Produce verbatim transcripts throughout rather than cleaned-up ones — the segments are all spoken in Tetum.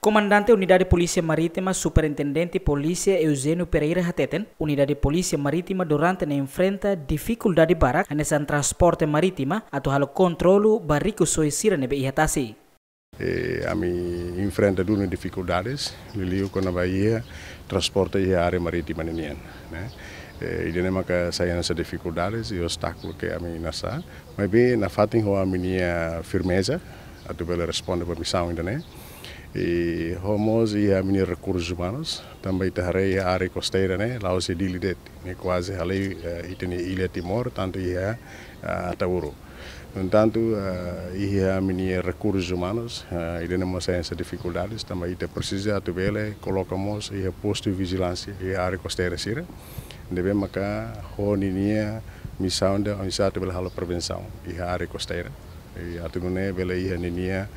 Komandante Unidade Polísia Marítima, Superintendente Polísia Eugênio Pereira hateten, Unidade Polísia Marítima durante ne'e enfrenta difikuldade barak hanesan transporte marítima atu halo kontrolu ba rikusoin sira ne'ebé iha tasi. Eh, ami enfrenta duni difikuldades, liuliu kona-ba iha transporte iha área marítima ninian, ne'e. Eh, ida-ne'e maka sai hanesan difikuldades i obstákulu ke ami nasa. Maibé nafatin ho ami-nia firmeza atu bele responde ba misaun ida-ne'e. I ho mós iha ami-nia rekursus umanus, tanba ita haree iha área kosteira ne'e, la'ós iha Dili de'it, ne'e kuaze halai, eh, ita-nia illa Timor, tantu iha, eh, Ataúro. No entantu, eh, iha ami-nia rekursus umanus, eh, ida-ne'e mós sai hanesan difikuldades, tanba ita presiza atu bele koloka mós iha postu vijilánsia iha área kosteira sira. Ne'ebé maka ho ninia misaun ida, oinsá atu bele halo prevensaun iha área kosteira. I atu nune'e bele iha ninia,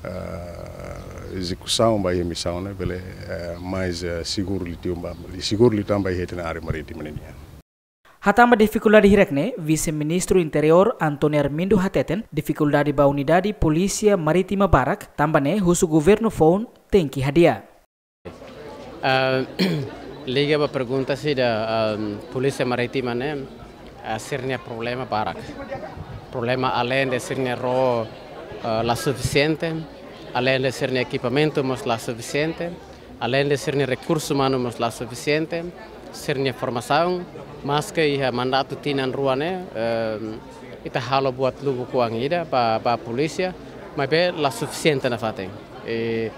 eh, ezekusaun ba iha misaun ne'e bele, eh, mais, eh, seguru liután ba, seguru liután ba iha ita-nia área marítima ninian. Hatán ba difikuldade hirak-ne'e, Vise-Ministru Interiór António Armindo hateten, difikuldade ba Unidade Polísia Marítima barak, tanba ne'e husu governu foun tenke hadi'a. Ah, liga ba pergunta sira, ah, Polísia Marítima ne'e, ah, sira-nia problema barak. Problema aleinde sira-nia ró, ah, la sufisiente, aleinde sira-nia ekipamentu mós la sufisiente, aleinde sira-nia rekursu umanu mós la sufisiente, sira-nia formasaun, maske iha mandatu tinan rua ne'e, eh, ita halo buat lubuk oan ida ba, ba polísia, maibé la sufisiente nafatin. I,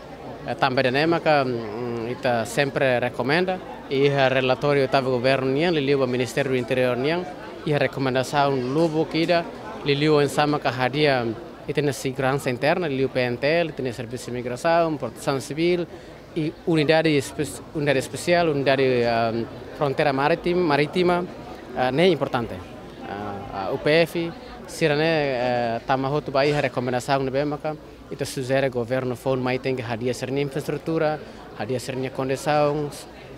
eh, tanba ida-ne'e maka, mm, ita sempre rekomenda, iha relatóriu oitavu governu nian, liuliu ba Ministériu Interiór nian, iha rekomendasaun lubuk ida, liuliu oinsá maka hadi'a ita-nia seguransa interna, liuliu P N T L, ita-nia Servisu Imigrasaun, Protesaun Sivíl, i unidade espe-, unidade espesiál, unidade, ah, fronteira marítima, marítima, ah, ne'e importante. Ah, ah, U P F, sira-ne'e, eh, tama hotu ba iha rekomendasaun ne'ebé maka ita sujere governu foun mai tenke hadi'a sira-nia infraestrutura, hadi'a sira-nia kondisaun,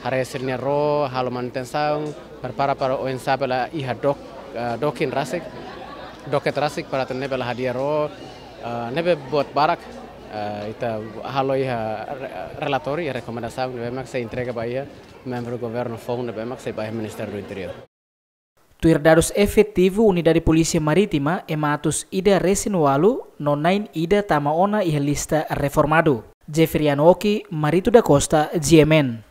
haree sira-nia ró, halo manutensaun, prepara para oinsá bele iha dok, eh, dokin rasik, doket rasik para atu nune'e bele hadi'a ró, eh, ne'ebé buat barak, eh, ita halo iha re-, relatóriu, iha rekomendasaun ne'ebé mak sei entrega ba iha membru governu foun ne'ebé mak sei ba iha Ministériu Interiór. Tuir dadus efetivu Unidade Polísia Marítima, ema atus ida resin ualu no na'in ida tama ona iha lista reformadu. Jeffrey Anoki, Marito da Costa, G M N.